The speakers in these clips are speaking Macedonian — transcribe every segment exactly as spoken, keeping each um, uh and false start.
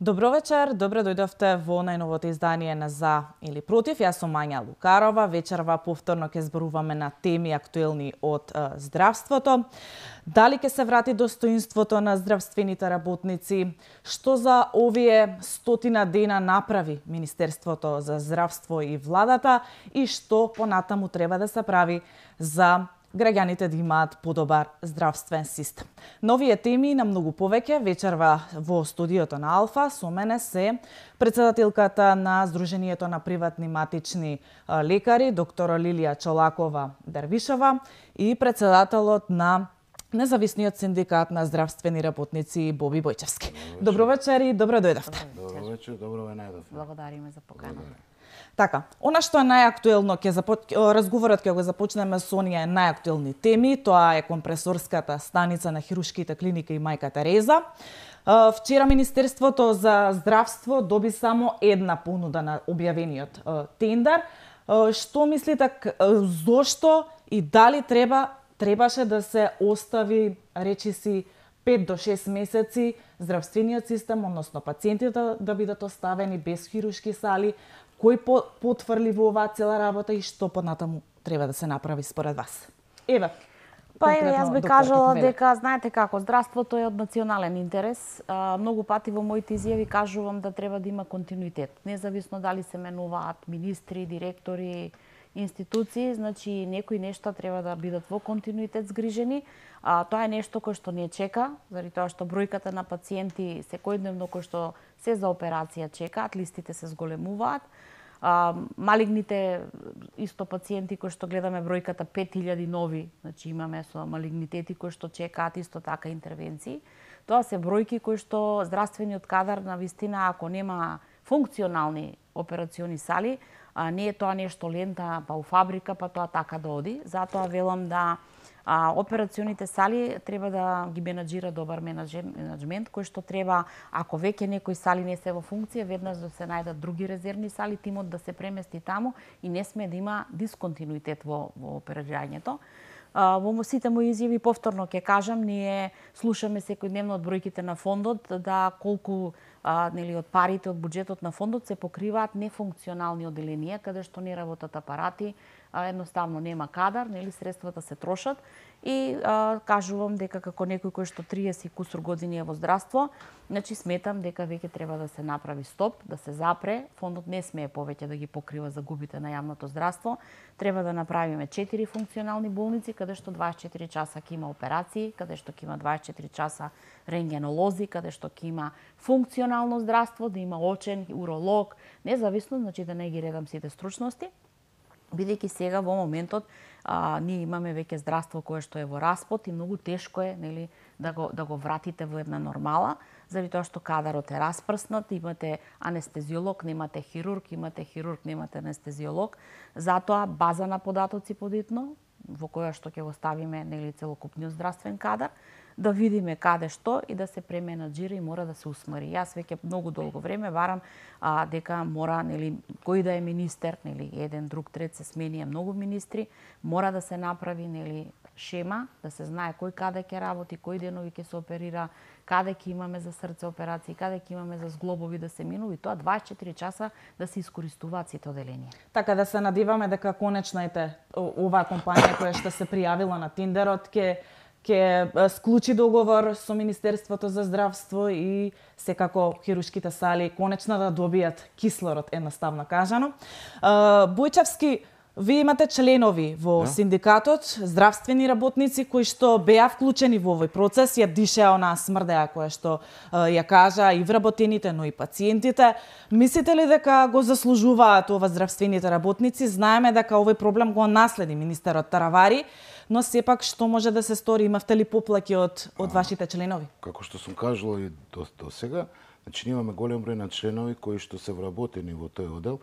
Добро вечер, добре дојдовте во најновото издание на За или Против. Јас сум Мања Лукарова. Вечерва повторно ќе зборуваме на теми актуелни од е, здравството. Дали ќе се врати достоинството на здравствените работници? Што за овие стотина дена направи Министерството за здравство и владата и што понатаму треба да се прави за граѓаните да имаат подобар здравствен систем. Новие теми на многу повеќе вечерва во студиото на Алфа со мене се председателката на Сдруженијето на приватни матични лекари, доктор Лилија Чолакова Дарвишова и председателот на Независниот синдикат на здравствени работници Боби Бојчевски. Добро вечер и добро дојдовте. Добро вечер, добро ве најдовме. Благодариме за поканата. Така, она што е најактуелно, ќе започ... разговорот ќе го започнеме со оние најактуелни теми, тоа е компресорската станица на хируршките клиника и Мајка Тереза. Вчера Министерството за здравство доби само една понуда на објавениот тендер. Што мислите, зошто и дали треба требаше да се остави, речиси, пет до шест месеци здравствениот систем, односно пациентите да бидат оставени без хируршки сали? Кој потврли во оваа цела работа и што понатаму треба да се направи според вас? Еве. Па еве, јас би кажала дека, знаете како, здравството е од национален интерес. А, многу пати во моите изјави кажувам да треба да има континуитет. Независно дали се менуваат министри, директори, институции, значи некои нешта треба да бидат во континуитет згрижени. А, тоа е нешто кое што не чека, заради тоа што бројката на пациенти секојдневно кои што се за операција чекаат, листите се зголемуваат. А, малигните исто пациенти кои што гледаме бројката пет илјади нови, значи имаме со малигнитети кои што чекаат исто така интервенции. Тоа се бројки кои што здравствениот кадар на вистина ако нема функционални операциони сали, а не е тоа нешто лента па у фабрика па тоа така да оди. Затоа велам да А, операционите сали треба да ги менаџира добар менаџмент, кој што треба, ако веќе некои сали не се во функција, веднаш да се најдат други резервни сали, тимот да се премести таму и не сме да има дисконтинуитет во, во оперирањето. А, во сите мои изјави повторно ќе кажам, ние слушаме секојдневно од бројките на фондот да колку а, нели од парите од буџетот на фондот се покриваат нефункционални оделенија каде што не работат апарати, а, едноставно нема кадар, нели средствата се трошат и а, кажувам дека како некој кој што триесет кусур години е во здравство, значи сметам дека веќе треба да се направи стоп, да се запре, фондот не смее повеќе да ги покрива загубите на јавното здравство, треба да направиме четири функционални болници каде што дваесет и четири часа ќе има операции, каде што ќе има дваесет и четири часа рентгенолози, каде што ќе има функционално здравство, да има очен, уролог, независно, значи да не ги редам сите стручности, бидејќи сега во моментот а, ние имаме веќе здравство кое што е во распод и многу тешко е, нели, да го да го вратите во една нормала, заради тоа што кадарот е распрснат, имате анестезиолог, немате хирург, имате хирург, немате анестезиолог, затоа база на податоци подитно, во која што ќе го ставиме, нели, целокупниот здравствен кадар, да видиме каде што и да се пременаџира и мора да се усмари. Јас веќе многу долго време барам а, дека мора, нели, кој да е министер, нели, еден, друг, трет се сменија многу министри, мора да се направи, нели, шема, да се знае кој каде ќе работи, кои денови ќе се оперира, каде ќе имаме за срце операции, каде ќе имаме за зглобови да се минува и тоа дваесет и четири часа да се искористуваат сите оделенија. Така да се надиваме дека конечно ете оваа компанија која што се пријавила на тендерот ќе ќе склучи договор со Министерството за здравство и секако хируршките сали конечно да добијат кислород, едноставно кажано. Бојчевски, вие имате членови во да. Синдикатот, здравствени работници кои што беа вклучени во овој процес, ја дишеа онаа смрдеа која што ја кажа и вработените, но и пациентите. Мислите ли дека го заслужуваат ова здравствените работници? Знаеме дека овој проблем го наследи министерот Таравари, но сепак што може да се стори? Имавте ли поплаки од, од вашите членови? Како што сум кажала и до, до сега, значи имаме голем број на членови кои што се вработени во тој одел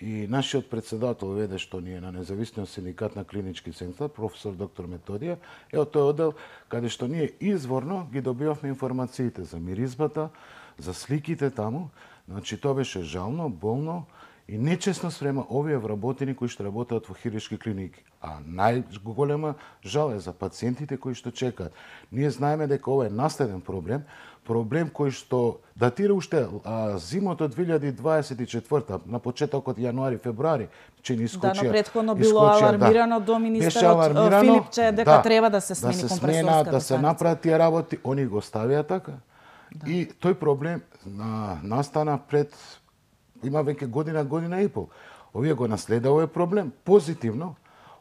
и нашиот председател веде што ние на Независниот синдикат на клинички центар, професор доктор Методија, е од тој одел каде што ние изворно ги добивавме информациите за миризбата, за сликите таму, значи тоа беше жално, болно и нечесно спрема овие вработени кои што работат во хируршки клиники. А најголема жал е за пациентите кои што чекаат. Ние знаеме дека ова е наследен проблем, проблем кој што датира уште а, зимото две илјади дваесет и четврта, на почетокот јануари, февруари, че ни искочија. Да, но претходно било алармирано да. До министерот Филипче дека да, треба да се смени да се компресорската да се направат тие работи, они го ставија така. Да. И тој проблем на, настана пред има веќе година, година и пол. Овие го наследа овој проблем позитивно.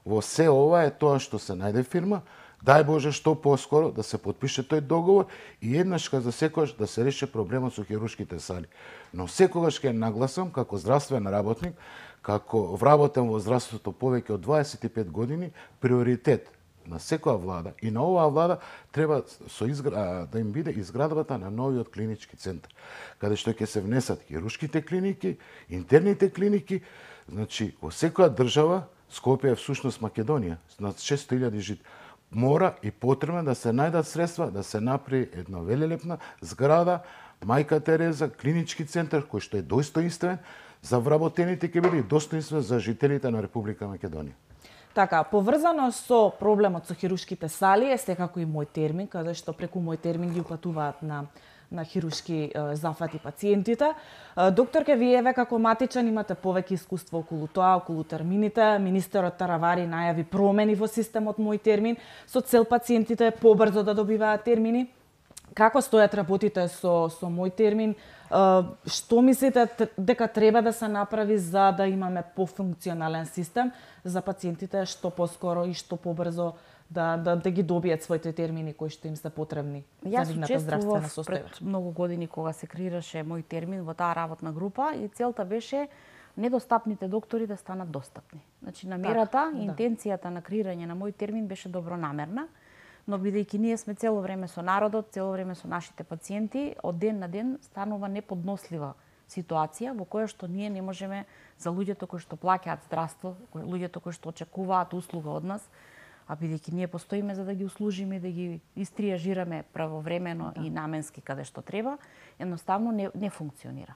Во се ова е тоа што се најде фирма, дај Боже што поскоро да се потпише тој договор и еднаш за секогаш да се реши проблемот со хируршките сали. Но секогаш ќе нагласам како здравствен работник, како вработен во здравството повеќе од дваесет и пет години, приоритет на секоја влада и на оваа влада треба со изгра... да им биде изградбата на новиот клинички центар, каде што ќе се внесат хируршките клиники, интерните клиники, значи во секоја држава, Скопје е всушност Македонија, над шесто илјади жители, мора и потребно да се најдат средства да се направи една велелепна зграда, Мајка Тереза, клинички центар кој што е достоинствен за вработените ќе биде и достоинствен за жителите на Република Македонија. Така, поврзано со проблемот со хируршките сали е секако и мој термин, каде што преку мој термин ги упатуваат на на хируршки е, зафати пациентите. Е, докторке, вие како матичан имате повеќе искуство околу тоа, околу термините. Министерот Таравари најави промени во системот мој термин со цел пациентите побрзо да добиваат термини. Како стојат работите со со мој термин? Е, што мислите дека треба да се направи за да имаме пофункционален систем за пациентите што поскоро и што побрзо да, да, да ги добијат своите термини кои што им се потребни за нивната здравствена состојба? Пред многу години кога се креираше мој термин во таа работна група и целта беше недостапните доктори да станат достапни. Значи намерата, так, интенцијата да. На креирање на мој термин беше добронамерна, но бидејќи ние сме цело време со народот, цело време со нашите пациенти, од ден на ден станува неподнослива ситуација во која што ние не можеме за луѓето кои што плаќаат здравство, луѓето кои што очекуваат услуга од нас, а бидејќи ние постоиме за да ги услужиме, да ги истриажираме правовремено да. И наменски каде што треба, едноставно не, не функционира.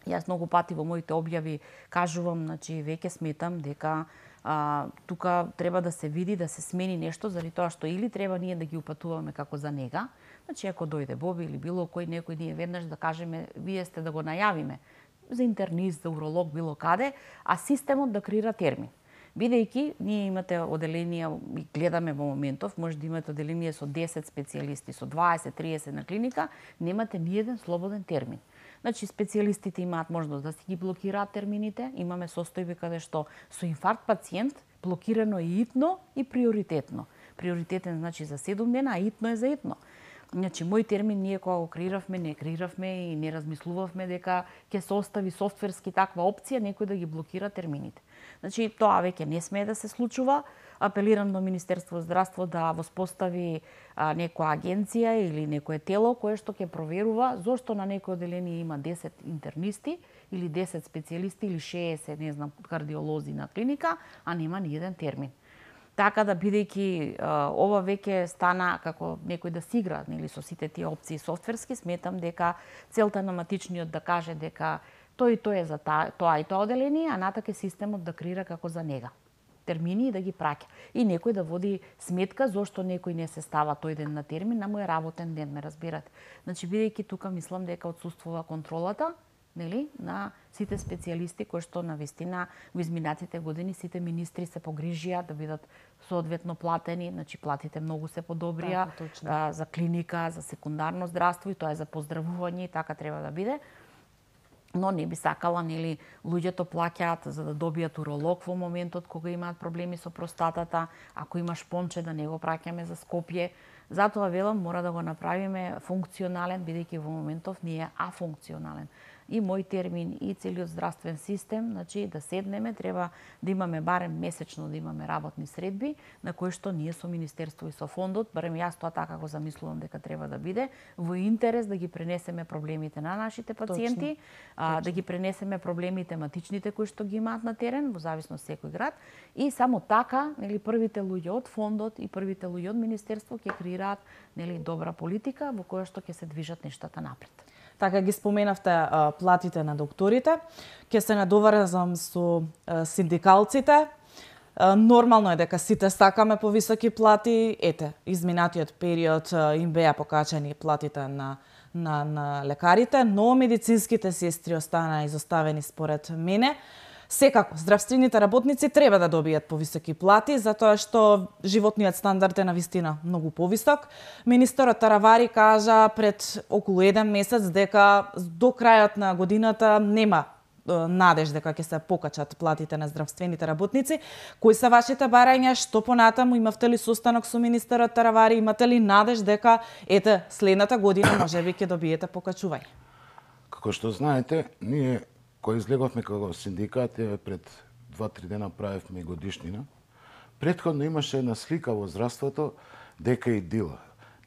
Јас многу пати во моите објави кажувам, значи веќе сметам дека а, тука треба да се види, да се смени нешто, заради тоа што или треба ние да ги упатуваме како за нега, значи ако дојде Боби или било кој некој ние веднаш да кажеме, вие сте да го најавиме за интернист, за уролог, било каде, а системот да креира термин. Бидејќи ние имате оделенија и гледаме во моментов, може да имате оделение со десет специјалисти, со дваесет триесет на клиника, немате ни еден слободен термин. Значи специјалистите имаат можност да си ги блокираат термините, имаме состојби каде што со инфаркт пациент блокирано е итно и приоритетно. Приоритетен значи за седум дена, а итно е за итно. Значи, мој термин ние кога го креиравме, не креиравме и не размислувавме дека ќе се остави софтверски таква опција некој да ги блокира термините. Значи, тоа веќе не смее да се случува. Апелирам до Министерство здравство да воспостави а, некоја агенција или некое тело кое што ќе проверува зошто на некој оделение има десет интернисти или десет специјалисти или шеесет, не знам, кардиолози на клиника, а нема ни еден термин. Така да, бидејќи ова веќе стана како некој да си игра, нели, со сите тие опции софтверски, сметам дека целта на матичниот да каже дека тој и тој е за та, тоа и тоа оделение, а натака системот да креира како за нега термини и да ги праќа. И некој да води сметка зошто некој не се става тој ден на термин, на мој работен ден, ме разбирате. Значи, бидејќи тука мислам дека отсуствува контролата, нели, на сите специјалисти кои што навистина во изминатите години сите министри се погрижија да бидат соодветно платени, значи платите многу се подобрија а, за клиника, за секундарно здравство и тоа е за поздравување и така треба да биде. Но не би сакала, нели, луѓето плаќаат за да добијат уролог во моментот кога имаат проблеми со простатата, ако има шпонче да не го праќаме за Скопје. Затоа велам мора да го направиме функционален, бидејќи во моментов не е афункционален. И мој термин и целиот здравствен систем, значи да седнеме, треба да имаме барем месечно да имаме работни средби на кои што ние со Министерство и со фондот, барем јас тоа така го замислувам дека треба да биде, во интерес да ги пренесеме проблемите на нашите пациенти, Точно. А, Точно. Да ги пренесеме проблемите матичните кои што ги имаат на терен, во зависност секој град, и само така, нели, првите луѓе од фондот и првите луѓе од Министерство ќе креираат, нели, добра политика во која што ќе се движат нештата напред. Така ги споменавте а, платите на докторите. Ќе се надоврзам со а, синдикалците. А, нормално е дека сите сакаме повисоки плати. Ете, изминатиот период а, им беа покачени платите на на на лекарите, но медицинските сестри останаа изоставени според мене. Секако, здравствените работници треба да добијат повисоки плати, затоа што животниот стандард е навистина многу повисок. Министерот Таравари кажа пред околу еден месец дека до крајот на годината нема надеж дека ќе се покачат платите на здравствените работници. Кои се вашите барања? Што понатаму? Имавте ли состанок со министерот Таравари? Имате ли надеж дека ете следната година можеби ќе добиете покачување? Како што знаете, ние кој излеговме како синдикат пред два-три дена правевме годишнина. Претходно имаше една слика во здравството дека и дила.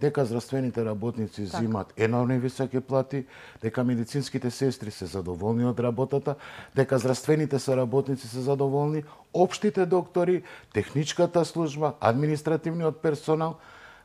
Дека здравствените работници так. Зимат енормни високи плати, дека медицинските сестри се задоволни од работата, дека здравствените соработници се задоволни, општите доктори, техничката служба, административниот персонал,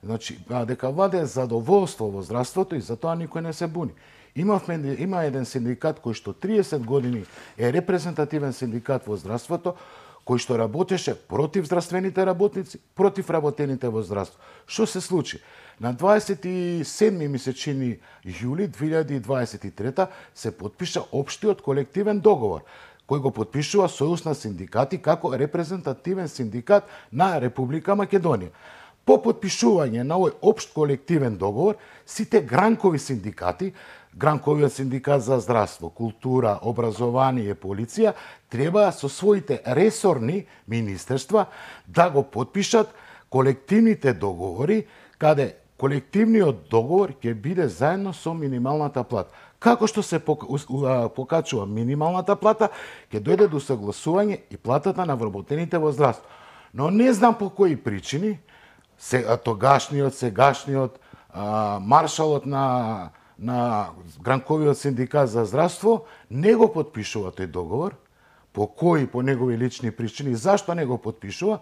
значи дека владее задоволство во здравството и затоа никој не се буни. Имавме, има еден синдикат кој што триесет години е репрезентативен синдикат во здравството, кој што работеше против здравствените работници, против работените во здравство. Што се случи? На дваесет и седми месечини јули две илјади и дваесет и трета се потпиша општиот колективен договор, кој го потпишува Сојуз на синдикати како репрезентативен синдикат на Република Македонија. По потпишување на овој општ колективен договор, сите гранкови синдикати, гранковиот синдикат за здравство, култура, образование, полиција, треба со своите ресорни министерства да го потпишат колективните договори, каде колективниот договор ќе биде заедно со минималната плата. Како што се покачува минималната плата, ќе дојде до согласување и платата на вработените во здравство. Но не знам по кои причини, тогашниот, сегашниот, а, маршалот на, на Гранковиот синдикат за здравство не го потпишува тој договор. По кои, по негови лични причини, зашто не го потпишува?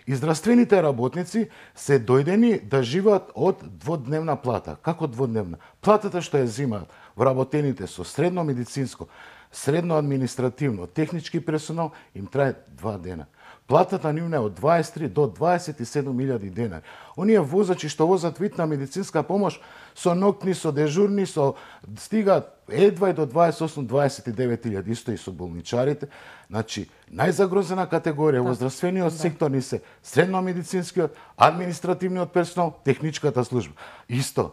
И здравствените работници се дојдени да живеат од дводневна плата. Како дводневна? Платата што ја зимаат вработените со средно медицинско, средно административно, технички персонал им трае два дена. Платата нивна е од дваесет и три до дваесет и седум илјади денари. Оние возачи што возат витна медицинска помош со ноктни, со дежурни, со стигаат едва и до дваесет и осум до дваесет и девет илјади, исто и со болничарите. Значи, најзагрозена категорија во здравствениот сектор ни се средно медицинскиот, административниот персонал, техничката служба. Исто.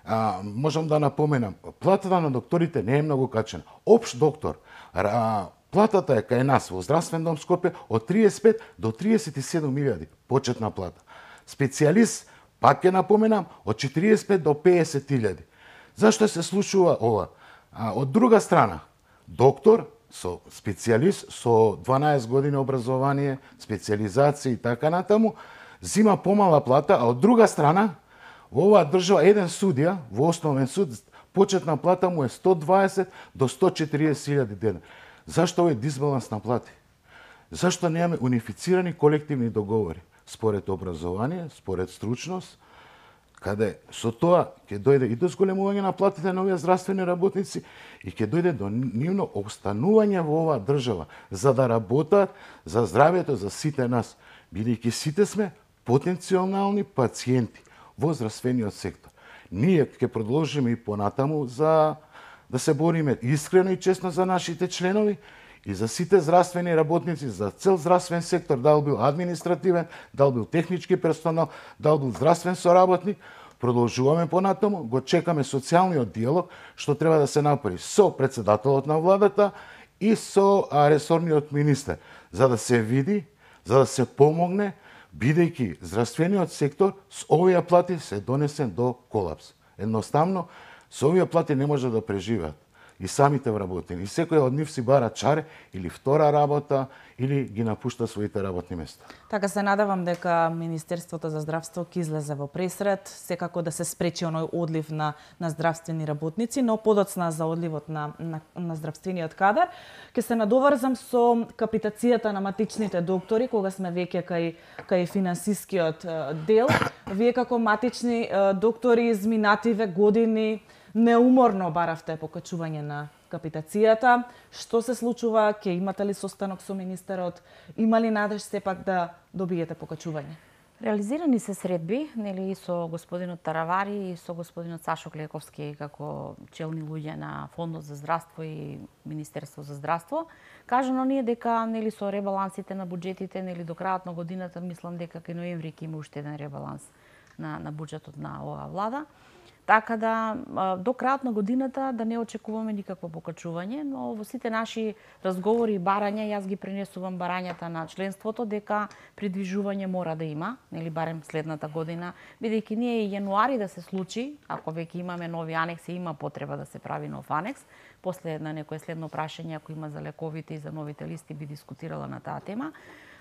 А, можам да напоменам, платата на докторите не е многу качена. Општ доктор, а, платата е кај нас во здравствен дом Скопје од триесет и пет до триесет и седум илјади почетна плата. Специјалист, пак ќе напоменам, од четириесет и пет до пеесет илјади. Зашто се случува ова? А, од друга страна, доктор со специјалист со дванаесет години образование, специјализација и така натаму, зима помала плата, а од друга страна, во оваа држава еден судија во основен суд почетна плата му е сто дваесет до сто четириесет илјади денари. Зашто овој дисбаланс на плати? Зашто немаме унифицирани колективни договори според образование, според стручност, каде со тоа ќе дојде и до зголемување на платите на овие здравствени работници и ќе дојде до нивно останување во оваа држава за да работат за здравјето за сите нас, бидејќи сите сме потенцијални пациенти во здравствениот сектор. Ние ќе продолжиме и понатаму за да се бориме искрено и честно за нашите членови и за сите здравствени работници, за цел здравствен сектор, дал бил административен, дал бил технички персонал, дал бил здравствен соработник. Продолжуваме понатаму, го чекаме социјалниот диалог што треба да се направи со председателот на владата и со ресорниот министер, за да се види, за да се помогне, бидејќи здравствениот сектор с овие плати се донесен до колапс. Едноставно, со овие плати не може да преживеат и самите вработени. И секој од нив си бара чаре или втора работа, или ги напушта своите работни места. Така се надевам дека Министерството за здравство ќе излезе во пресред, секако да се спречи оној одлив на, на здравствени работници, но подоцна за одливот на, на, на здравствениот кадар. Ке се надоврзам со капитацијата на матичните доктори, кога сме веќе кај, кај финансискиот дел. Вие како матични доктори изминативе години неуморно баравте покачување на капитацијата. Што се случува? Ќе имате ли состанок со министерот? Има ли надеж сепак да добиете покачување? Реализирани се средби, нели, со господинот Таравари и со господинот Сашо Клековски како челни луѓе на Фондот за здравство и Министерство за здравство. Кажано ние дека, нели, со ребалансите на буџетите, нели, до крајот на годината, мислам дека кај ноември ќе има уште еден ребаланс на на буџетот на оваа влада. Така да до крајот на годината да не очекуваме никакво покачување, но во сите наши разговори и барања јас ги пренесувам барањата на членството дека придвижување мора да има, нели барем следната година, бидејќи ние и јануари да се случи, ако веќе имаме нови анекси, има потреба да се прави нов анекс. После на некое следно прашање, ако има за лековите и за новите листи, би дискутирала на таа тема.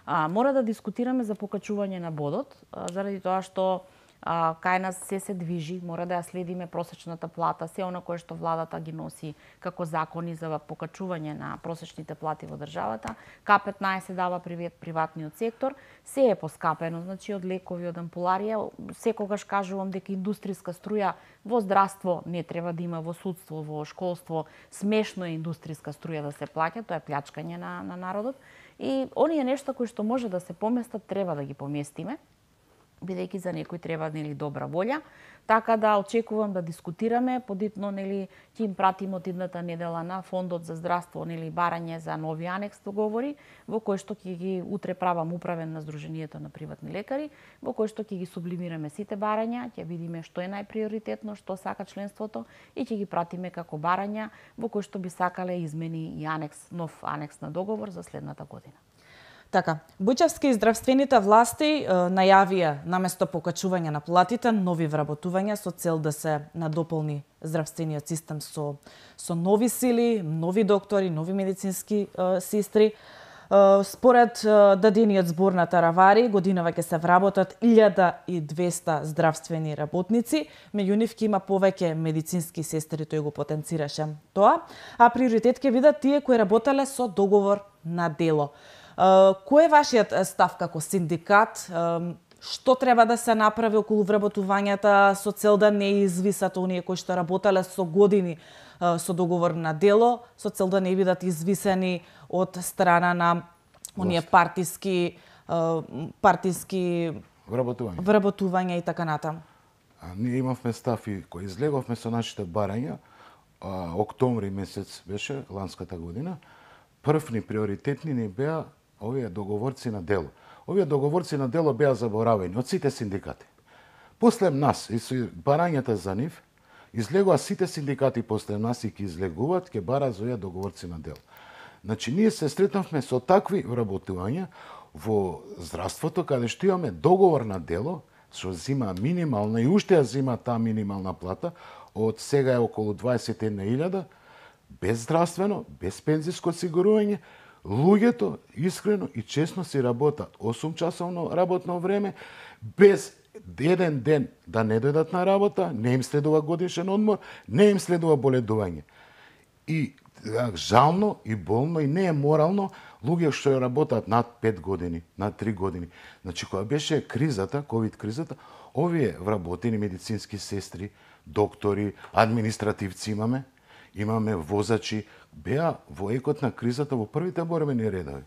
А, мора да дискутираме за покачување на бодот, а, заради тоа што А, кај нас се се движи, мора да ја следиме просечната плата, се она кое што владата ги носи како закони за покачување на просечните плати во државата. К петнаесет дава приватниот сектор, се е поскапено, значи од лекови, од ампуларија, секогаш кажувам дека индустријска струја во здравство не треба да има, во судство, во школство, смешно е индустријска струја да се плаќа, тоа е плячкање на, на народот. И оние нешта кои што може да се поместат, треба да ги поместиме, бидејќи за некој треба, нели, добра волја. Така да очекувам да дискутираме, подитно, нели, ќе им пратим од идната недела на Фондот за здравство, нели, барање за нови анекс договори, во кој што ќе ги утре правам управен на Сдруженијето на приватни лекари, во кој што ќе ги сублимираме сите барања, ќе видиме што е најприоритетно, што сака членството и ќе ги пратиме како барања во кој што би сакале измени и анекс, нов анекс на договор за следната година. Така, Буџевски и здравствените власти е, најавија наместо покачување на платите нови вработувања со цел да се надополни здравствениот систем со со нови сили, нови доктори, нови медицински е, сестри. Е, според е, дадениот збор на Таравари, годинава ќе се вработат илјада и двесте здравствени работници, меѓу нив ќе има повеќе медицински сестри, тој го потенцираше тоа, а приоритет ќе бидат тие кои работеле со договор на дело. Кој е вашиот став како синдикат? Што треба да се направи околу вработувањата со цел да не извисат оние кои што работеле со години со договор на дело, со цел да не бидат извисени од страна на оние партиски партиски вработувања, вработувања и така натаму? Ние имавме став и кој излеговме со нашите барања, а, октомври месец беше ланската година. Првни приоритетни ни беа овие договорци на дело. Овие договорци на дело беа заборавени од сите синдикати. После нас и со барањата за нив, излегува сите синдикати после нас и ќе излегуваат, ќе бараат за овие договорци на дело. Значи, ние се сретнавме со такви вработувања во здравството, каде што имаме договор на дело, што зима минимална и уште ја зима таа минимална плата, од сега е околу дваесет и една илјада, без здравствено, без пензиско осигурување, луѓето искрено и честно си работат осум часовно работно време, без еден ден да не дојдат на работа, не им следува годишен одмор, не им следува боледување. И жално и болно и не е морално луѓе што ја работат над пет години, над три години. Значи, кога беше кризата, ковид кризата, овие вработени медицински сестри, доктори, административци имаме, имаме возачи, беа во екот на кризата во првите борбени редови.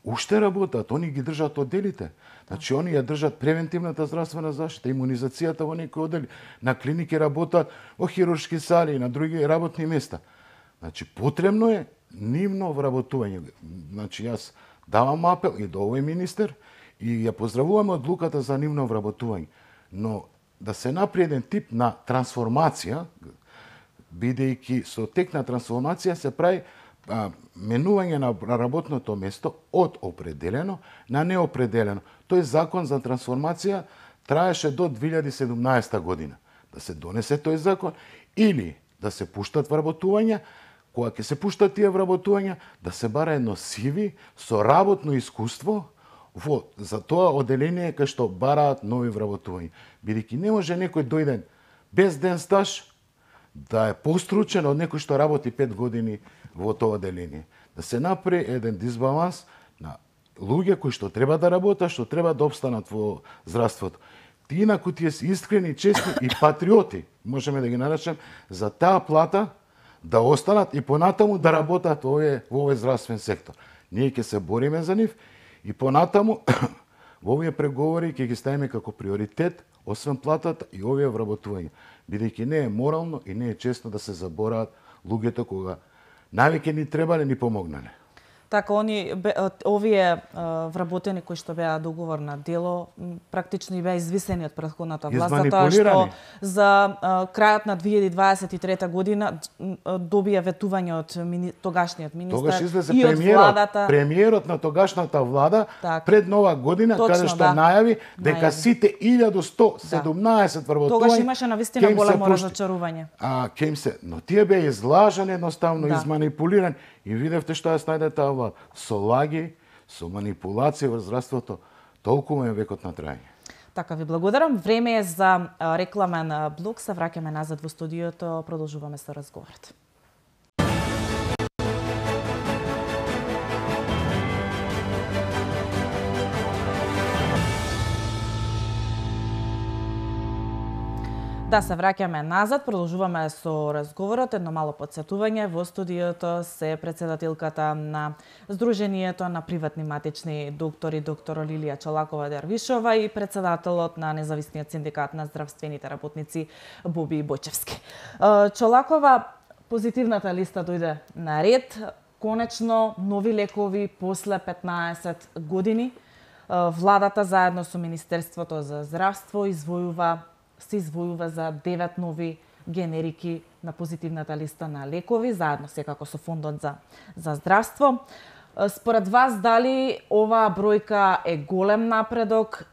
Уште работат, они ги држат одделите. Значи, они ја држат превентивната здравствена заштита, имунизацијата во некои оддели. На клиники работат во хируршки сали и на други работни места. Значи, потребно е нивно вработување. Значи, јас давам апел и до овој министер и ја поздравуваме одлуката за нивно вработување. Но да се направи еден тип на трансформација, бидејќи со тек на трансформација се прави а, менување на работното место од определено на неопределено. Тој закон за трансформација траеше до две илјади и седумнаесета година. Да се донесе тој закон или да се пуштат вработувања, кога ќе се пуштат тие вработувања, да се бара едно сиви со работно искуство во за тоа одделение кај што бараат нови вработувања. Бидејќи не може некој дојден без ден стаж да е постручен од некој што работи пет години во тоа одделение. Да се направи еден дисбаланс на луѓе кои што треба да работат, што треба да обстанат во здравството. тие на кои тие се искрени, честни и патриоти, можеме да ги наречем, за таа плата да останат и понатаму да работат во овој во овој здравствен сектор. Ние ќе се бориме за нив и понатаму во овие преговори ќе ги ставиме како приоритет, освен платата и овие вработувања, бидејќи не е морално и не е честно да се забораат луѓето кога навеќе ни требале, ни помогнале. Така, они, овие вработени кои што беа договор на дело, практично и беа извисени од претходната власт, затоа што за крајот на две илјади дваесет и трета година добија ветување од мини, тогашниот министар и од владата. Премиерот на тогашната влада так, пред нова година, точно, каде што да, најави дека најави. Сите илјада сто седумнаесет да, вработувања. Тогаш имаше навистина големо разочарување. А ќе им се, но тие беа излажани, едноставно да, изманипулирани. И видевте што ја снајде таа влада. Со лаги, со манипулација во здравството, толку е векот на трајање. Така, ви благодарам. Време е за рекламен блок. Се враќаме назад во студиото, продолжуваме со разговорот. Да, се враќаме назад, продолжуваме со разговорот. Едно мало подсетување, во студиото се председателката на Сдруженијето на приватни матични доктори, доктор Лилија Чолакова-Дервишова и председателот на Независниот синдикат на здравствените работници Боби Бојчевски. Чолакова, позитивната листа дојде на ред. Конечно, нови лекови после петнаесет години. Владата заедно со Министерството за здравство извојува се извојува за девет нови генерики на позитивната листа на лекови, заедно секако со Фондот за, за здравство. Според вас, дали оваа бројка е голем напредок?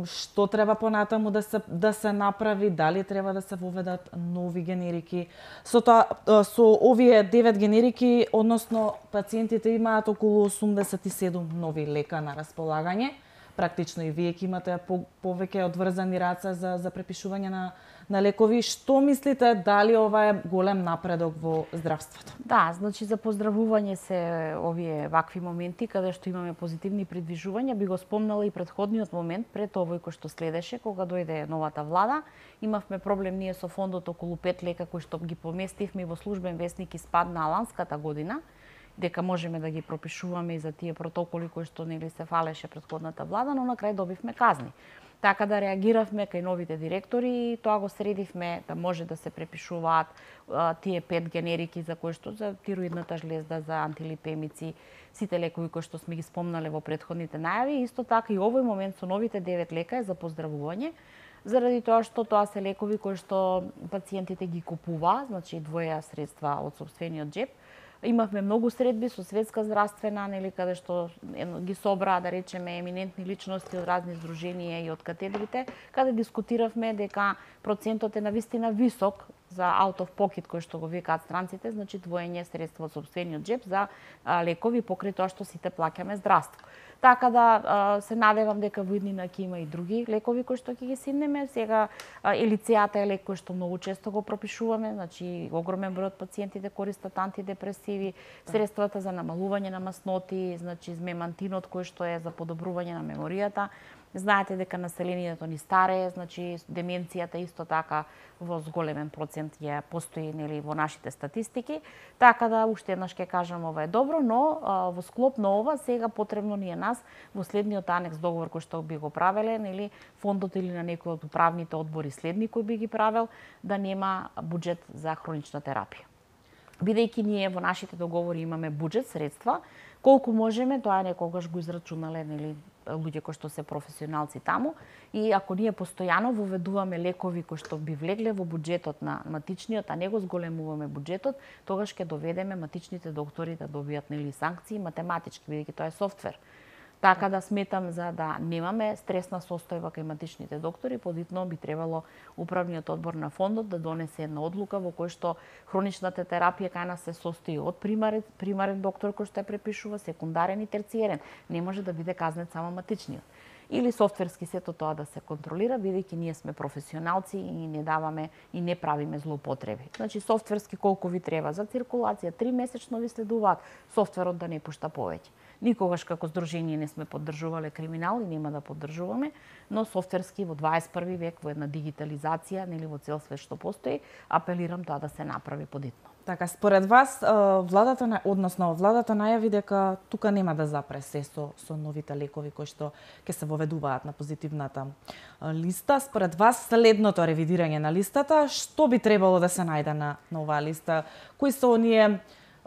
Што треба понатаму да се, да се направи? Дали треба да се воведат нови генерики? Со, тоа, со овие девет генерики, односно пациентите имаат околу осумдесет и седум нови лека на располагање. Практично и вие ќе имате по, повеќе одврзани раце за, за препишување на, на лекови. Што мислите, дали ова е голем напредок во здравството? Да, значи за поздравување се овие вакви моменти каде што имаме позитивни придвижувања. Би го спомнала и претходниот момент пред овој кој што следеше, кога дојде новата влада. Имавме проблем ние со фондот околу пет лека кои што ги поместивме во службен весник и спадна ланската година, дека можеме да ги пропишуваме и за тие протоколи кои што нели се фалеше претходната влада, но на крај добивме казни. Така да реагиравме кај новите директори и тоа го средивме да може да се препишуваат а, тие пет генерики за кои што за тироидната жлезда, за антилипемици, сите лекови кои што сме ги спомнале во претходните најави. Исто така и овој момент со новите девет лека е за поздравување, заради тоа што тоа се лекови кои што пациентите ги купуваат, значи двоја средства од сопствениот џеп. Имавме многу средби со Светска здравствена, нели, каде што ги собраа, да речеме, еминентни личности од разни здруженија и од катедрите, каде дискутиравме дека процентот е навистина висок за out of pocket, кој што го викаат странците, значи двоење средства од сопствениот џеп за а, лекови покрај тоа што сите плаќаме здравство. Така да а, се надевам дека во иднина ќе има и други лекови кои што ќе ги симнеме. Сега а, елицеата е лек кој што многу често го пропишуваме, значи огромен број од пациентите користат антидепресиви, да, средствата за намалување на масноти, значи змемантинот кој што е за подобрување на меморијата. Знаете дека населението ни старее, значи деменцијата исто така во зголемен процент ја постои, нели, во нашите статистики. Така да уште еднаш ќе кажам ова е добро, но а, во склоп на ова сега потребно ни е нас во следниот анекс договор кој што би го правеле, нели, фондот или на некој од управните одбори следни кој би ги правел, да нема буџет за хронична терапија. Бидејќи ние во нашите договори имаме буџет, средства, колку можеме, тоа некогаш го израчунале, нели, луѓе кои што се професионалци таму, и ако ние постојано воведуваме лекови кои што би влегле во буџетот на матичниот, а не го зголемуваме буџетот, тогаш ќе доведеме матичните доктори да добијат, нели, санкции математички, бидејќи тоа е софтвер. Така да сметам за да немаме стресна состојба кај матичните доктори, подитно би требало управниот одбор на фондот да донесе една одлука во кој што хроничната терапија кај нас се состои од примарен, примарен доктор кој што ја препишува, секундарен и терциерен. Не може да биде казнет само матичниот. Или софтверски сето тоа да се контролира, бидејќи ние сме професионалци и не даваме и не правиме злоупотреби. Значи софтверски колку ви треба за циркулација, три месечно ви следуваат, софтверот да не пушта повеќе. Никогаш како здружение не сме поддржувале криминал и нема да поддржуваме, но софтверски во дваесет и први век, во една дигитализација, нели во цел свет што постои, апелирам тоа да се направи подитно. Така, според вас, владата, односно владата најави дека тука нема да запре се со, со новите лекови кои што ќе се воведуваат на позитивната листа. Според вас, следното ревидирање на листата, што би требало да се најде на, на оваа листа? Кои се оние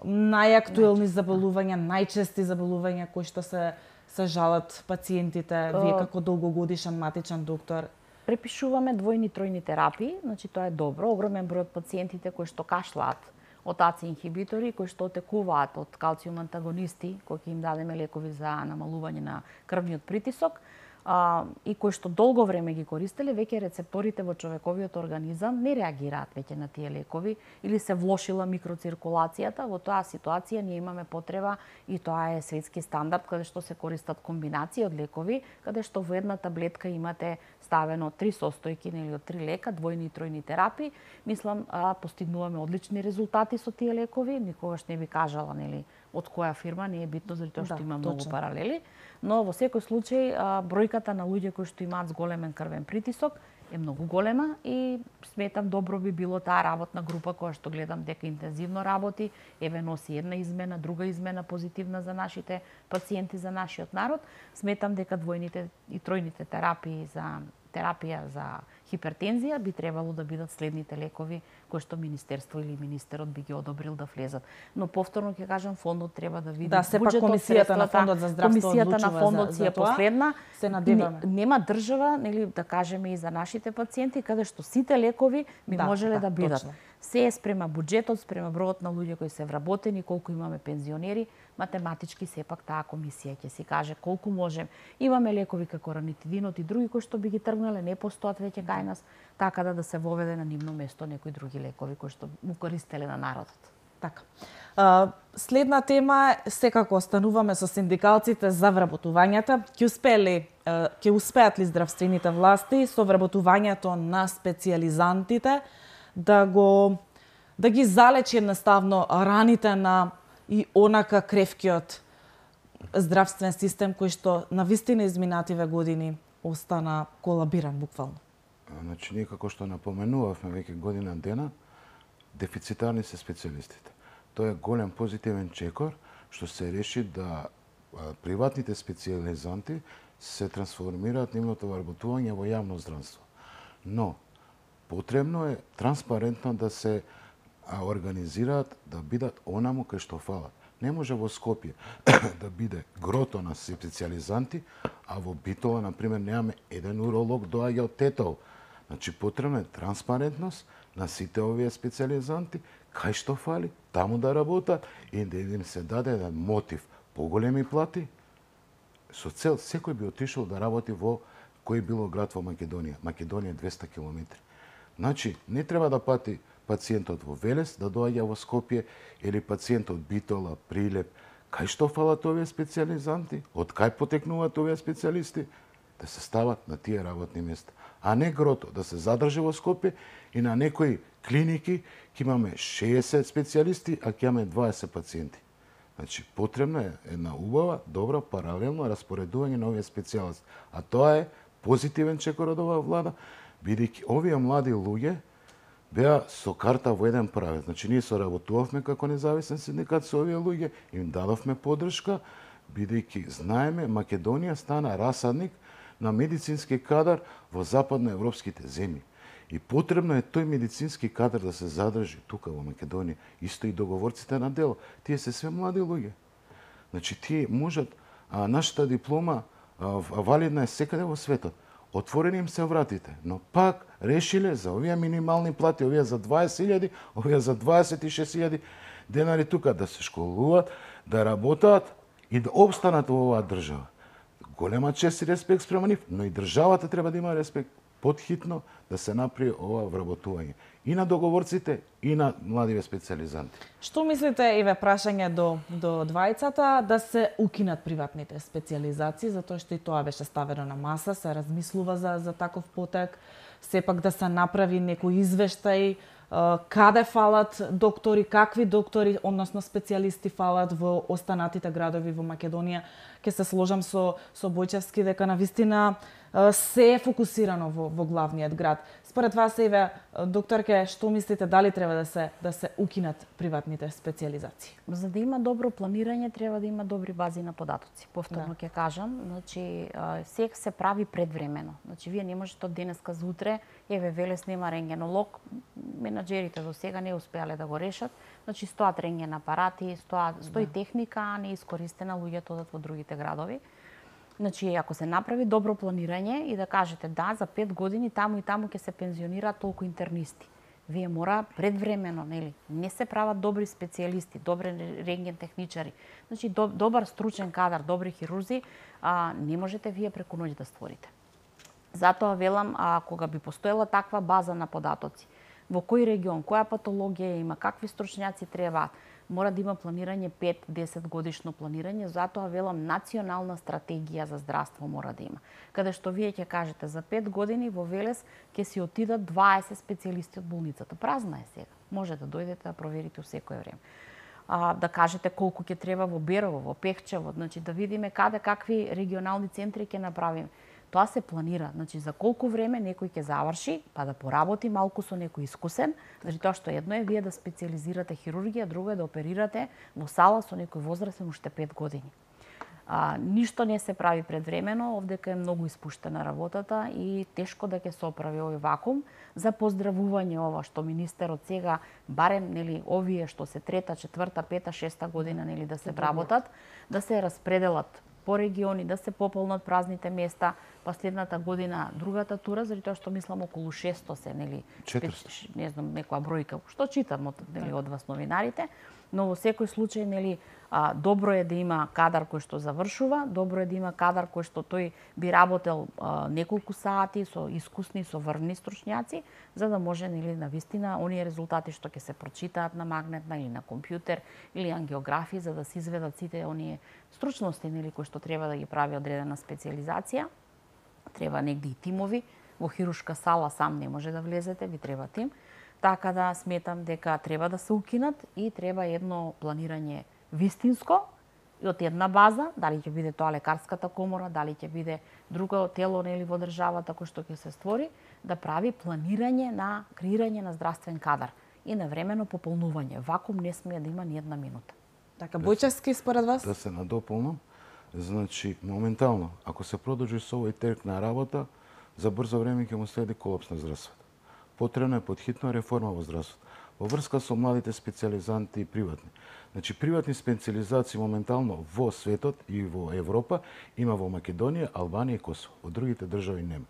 најактуелни заболувања, најчести заболувања кои што се се жалат пациентите, вие како долгогодишен матичен доктор? Препишуваме двојни тројни терапии, значи тоа е добро. Огромен број од пациентите кои што кашлаат од ей ци инхибитори, кои што отекуваат од калциум антагонисти, кои ќе им дадеме лекови за намалување на крвниот притисок, а, и кои што долго време ги користеле, веќе рецепторите во човековиот организам не реагираат веќе на тие лекови или се влошила микроциркулацијата. Во тоа ситуација ние имаме потреба, и тоа е светски стандард, каде што се користат комбинации од лекови, каде што во една таблетка имате ставено три состојки или од три лека, двојни и тројни терапии. Мислам, а, постигнуваме одлични резултати со тие лекови. Никогаш не би кажала, нели, од која фирма, не е битно, заради тоа што да, има многу точно паралели, но во секој случај а, бројката на луѓе кои што имаат зголемен крвен притисок е многу голема и сметам добро би било таа работна група која што гледам дека интензивно работи, еве носи една измена, друга измена позитивна за нашите пациенти, за нашиот народ. Сметам дека двојните и тројните терапии за терапија за хипертензија би требало да бидат следните лекови кои што министерство или министерот би ги одобрил да влезат. Но повторно ќе кажам, фондот треба да види да, сепак комисијата на фондот за здравство комисијата на фондот си е последна. Се надеваме. Нема држава, нели, да кажеме и за нашите пациенти, каде што сите лекови би да, можеле да, да бидат. Точно. Се е спрема буџетот, спрема бројот на луѓе кои се вработени, колку имаме пензионери, математички сепак таа комисија ќе си каже колку можем. Имаме лекови како ранитидинот и други кои што би ги тргнале, не постојат веќе кај нас, така да да се воведе на нивно место некои други лекови кои што му користеле на народот. Така. Uh, следна тема, секако остануваме со синдикалците за вработувањата. Ќе успеели, uh, ќе успеат ли здравствените власти со вработувањето на специјализантите да го да ги залечи едноставно раните на и онака кревкиот здравствен систем кој што на вистина изминативе години остана колабиран буквално? Значи, ние како што напоменувавме веќе година дена, дефицитарни се специјалистите. Тоа е голем позитивен чекор што се реши да приватните специјализанти се трансформираат нивното вработување во јавно здравство. Но потребно е транспарентно да се организираат, да бидат онаму кај што фалат. Не може во Скопје да биде грото на специјализанти, а во Битола, например, немаме еден уролог доаѓа од Тетово. Значи, потребна е транспарентност на сите овие специјализанти, кај што фали, таму да работат и да им се даде еден мотив, поголеми плати, со цел секој би отишол да работи во кој било град во Македонија. Македонија е двеста километри. Значи, не треба да пати пациентот во Велес да доаѓа во Скопје или пациентот Битола, Прилеп. Кај што фалат овие специјализанти? Од кај потекнуваат овие специјалисти? Да се стават на тие работни места. А не грото да се задржи во Скопје и на некои клиники ќе имаме шеесет специјалисти, а ќе имаме дваесет пациенти. Значи, потребна е една убава, добра, паралелно распоредување на овие специјалисти. А тоа е позитивен чекор од оваа влада, бидејќи овие млади луѓе беа со карта во еден правец. Значи, ние соработувавме како независен синдикат со овие луѓе, им дадовме поддршка, бидејќи знаеме Македонија стана расадник на медицински кадар во западноевропските земји. И потребно е тој медицински кадар да се задржи тука во Македонија. Исто и договорците на дело. Тие се све млади луѓе. Значи, тие можат, а, нашата диплома а, валидна е секаде во светот. Отворени им се вратите, но пак решиле за овие минимални плати, овие за дваесет илјади, овие за дваесет и шест илјади денари тука да се школуваат, да работат и да обстанат во оваа држава. Голема чест и респект спрема нив, но и државата треба да има респект потхитно да се направи ова вработување и на договорците и на младиве специјализанти. Што мислите, еве прашање до до двајцата, да се укинат приватните специјализации, затоа што и тоа беше ставено на маса, се размислува за за таков потек, сепак да се направи некој извештај каде фалат доктори, какви доктори, односно специјалисти фалат во останатите градови во Македонија. Ке се сложам со со Бојчевски дека навистина се е фокусирано во, во главниот град. Според вас, Еве, докторке, што мислите, дали треба да се да се укинат приватните специјализации? За да има добро планирање, треба да има добри бази на податоци. Повторно ќе да. кажам, значи се се прави предвремено. Значи вие не можете од денеска за утре, еве Велес нема рентгенолог, менаџерите до сега не успеале да го решат. Значи стоат рентген апарати, стоа стои да. техника, а не искористена, луѓето одат во другите градови. Значи, ако се направи добро планирање и да кажете да, за пет години таму и таму ќе се пензионираат толку интернисти. Вие мора предвремено, нели? Не се прават добри специјалисти, добри рентген техничари. Значи, до, добар стручен кадар, добри хирурзи, а, не можете вие преку ноќ да створите. Затоа велам, а, кога би постоела таква база на податоци, во кој регион, која патологија има, какви стручњаци требаат, мора да има планирање пет до десет годишно планирање, затоа велам национална стратегија за здравство мора да има. Каде што вие ќе кажете за пет години во Велес ќе си отидат дваесет специјалисти од болницата. Празна е сега. Може да дојдете да проверите во секое време. А, да кажете колку ќе треба во Берово, во Пехчево, значи да видиме каде какви регионални центри ќе направиме. Тоа се планира, значи за колку време некој ќе заврши, па да поработи малку со некој искусен, значи тоа што едно е вие да специјализирате хирургија, друго е да оперирате во сала со некој возрастен уште пет години. А, ништо не се прави предвремено, овдека е многу испуштена работата и тешко да ќе се оправи овој вакуум. За поздравување ова што министерот сега, барем нели овие што се трета, четврта, пета, шеста година нели да се вработат, да се распределат по региони, да се пополнат празните места, па следната година другата тура, заради тоа што мислам околу шесто се, нели, четиристо. Не знам, некоја бројка, што читам од, нели, од вас новинарите, но во секој случај, нели, а, добро е да има кадар кој што завршува, добро е да има кадар кој што тој би работел а, неколку сати со искусни, со врвни стручњаци, за да може, нели, навистина оние резултати што ќе се прочитаат на магнетна или на компјутер или ангиографија, за да се изведат сите оние стручности, нели, кои што треба да ги прави одредена специјализација. Треба негде и тимови, во хирушка сала сам не може да влезете, ви треба тим. Така да сметам дека треба да се укинат и треба едно планирање вистинско и од една база, дали ќе биде тоа лекарската комора, дали ќе биде друго тело нели во државата кој што ќе се створи, да прави планирање на креирање на здравствен кадар и навремено пополнување. Вакуум не смее да има ни една минута. Така, Бојчевски, според вас? Да се надополнам. Значи, моментално, ако се продолжи со овој терк на работа, за брзо време ќе му следи колапс на здравството. Потребна е подхитна реформа во здравството. Во врска со младите специјализанти и приватни. Значи, приватни специјализации моментално во светот и во Европа има во Македонија, Албанија и Косово. Во другите држави нема.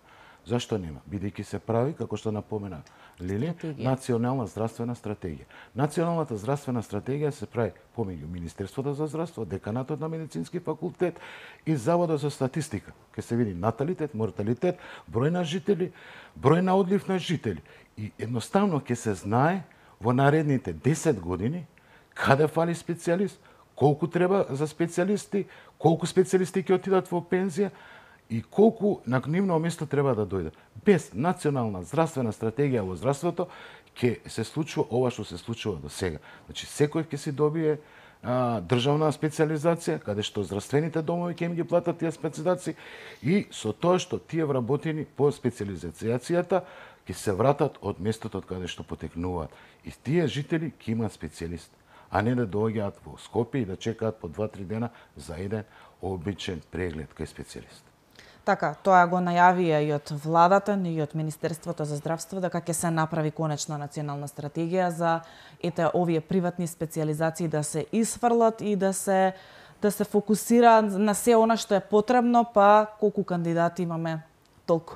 Зашто нема? Бидејќи се прави, како што напомена Лили, национална здравствена стратегија. Националната здравствена стратегија се прави помеѓу Министерството за здравство, Деканатот на медицински факултет и Заводот за статистика. Ке се види наталитет, морталитет, број на жители, број на одлив на жители. И едноставно ќе се знае во наредните десет години каде фали специјалист, колку треба за специјалисти, колку специјалисти ќе отидат во пензија, и колку на нивно место треба да дојде. Без национална здравствена стратегија во здравството ќе се случува ова што се случува до сега. Значи секој ќе си добие а, државна специјализација, каде што здравствените домови ќе им ги платат тие специјализации и со тоа што тие вработени по специјализацијата ќе се вратат од местото од каде што потекнуваат. И тие жители ќе имаат специјалист, а не да доаѓаат во Скопје и да чекаат по два-три дена за еден обичен преглед кај специјалист. Така, тоа го најавија и од владата, и од Министерството за здравство, дека ќе се направи конечно национална стратегија за ете овие приватни специјализации да се исфрлат и да се да се фокусира на се она што е потребно, па колку кандидати имаме толку.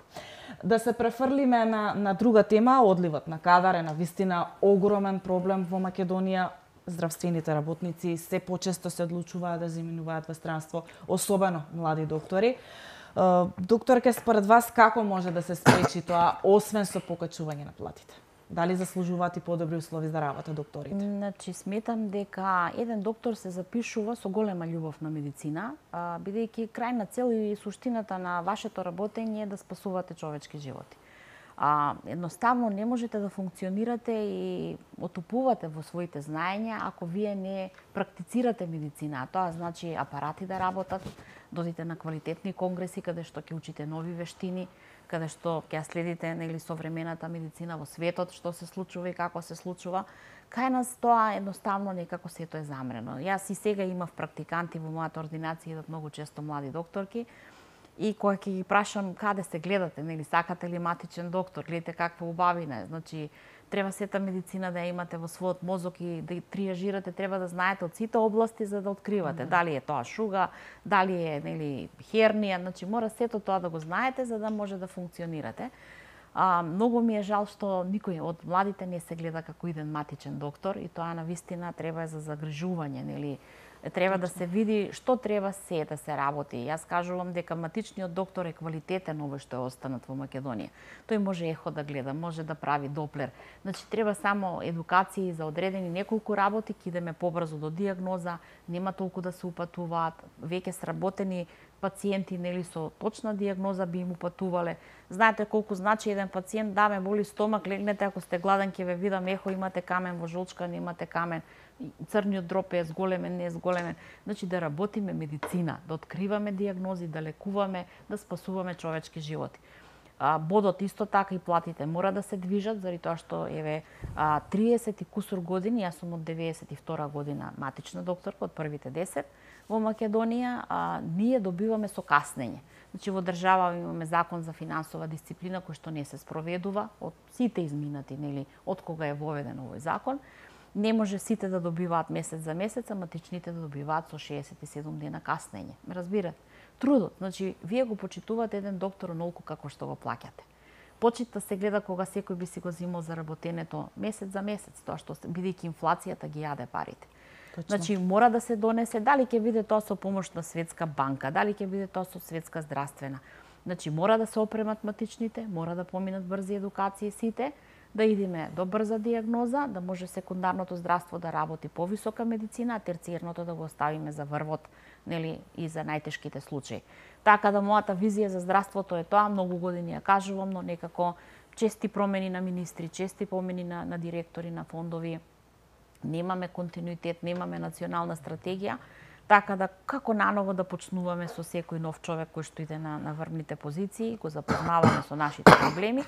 Да се префрлиме на на друга тема, одливот на кадар е навистина огромен проблем во Македонија. Здравствените работници се почесто се одлучуваат да заминуваат во странство, особено млади доктори. Докторке, според вас како може да се спречи тоа, освен со покачување на платите? Дали заслужуваат и подобри услови за работа докторите? Значи, сметам дека еден доктор се запишува со голема љубов на медицина, бидејќи крајна цел и суштината на вашето работење е да спасувате човечки животи. А, едноставно не можете да функционирате и отупувате во своите знаења ако вие не практицирате медицина. Тоа значи апарати да работат, додите на квалитетни конгреси каде што ќе учите нови вештини, каде што ќе следите нели современата медицина во светот, што се случува и како се случува. Кај нас тоа едноставно некако сето е замрено. Јас и сега имав практиканти во мојата ординација, идат многу често млади докторки, и кога ќе ги прашам каде се гледате, нели сакате ли матичен доктор, гледате каква убавина е. Значи треба сета медицина да ја имате во својот мозок и да триажирате, треба да знаете од сите области за да откривате. Mm-hmm. Дали е тоа шуга, дали е нели хернија, значи мора сето тоа да го знаете за да може да функционирате. А, многу ми е жал што никој од младите не се гледа како иден матичен доктор и тоа навистина треба за загрижување, нели треба да се види што треба се да се работи. Јас кажувам дека матичниот доктор е квалитетен овој што е останат во Македонија. Тој може ехо да гледа, може да прави доплер. Значи треба само едукација за одредени неколку работи, ќе идеме побрзо до дијагноза, нема толку да се упатуваат, веќе сработени пациенти нели со точна дијагноза би им упатувале. Знаете колку значи еден пациент, да ме боли стомак, легнете ако сте гладен ќе ве видам, ехо имате камен во жолчка, немате камен, црниот дроп е зголемен, не е зголемен. Значи да работиме медицина, да откриваме дијагнози, да лекуваме, да спасуваме човечки животи. А, бодот исто така и платите мора да се движат, заради тоа што еве а, триесет и кусур години, јас сум од деветдесет и втора година матична докторка, од првите десет во Македонија, а, ние добиваме со каснење. Значи во држава имаме закон за финансова дисциплина кој што не се спроведува од сите изминати, нели, од кога е воведен овој закон. Не може сите да добиваат месец за месец, а матичните да добиваат со шеесет и седум дена каснење. Ме разбирате? Трудот, значи вие го почитувате еден доктор онолку како што го плаќате. Почита се гледа кога секој би си го зимал заработенето месец за месец, тоа што бидејќи инфлацијата ги јаде парите. Точно. Значи мора да се донесе, дали ќе биде тоа со помош на Светска банка, дали ќе биде тоа со Светска здравствена. Значи мора да се опремат матичните, мора да поминат брзи едукации сите, да идеме до брза дијагноза, да може секундарното здравство да работи повисока медицина, а терциерното да го оставиме за врвот, нели, и за најтешките случаи. Така да мојата визија за здравството е тоа, многу години ја кажувам, но некако чести промени на министри, чести промени на, на директори на фондови, немаме континуитет, немаме национална стратегија, така да како наново да почнуваме со секој нов човек кој што иде на, на врвните позиции, го запознаваме со нашите проблеми,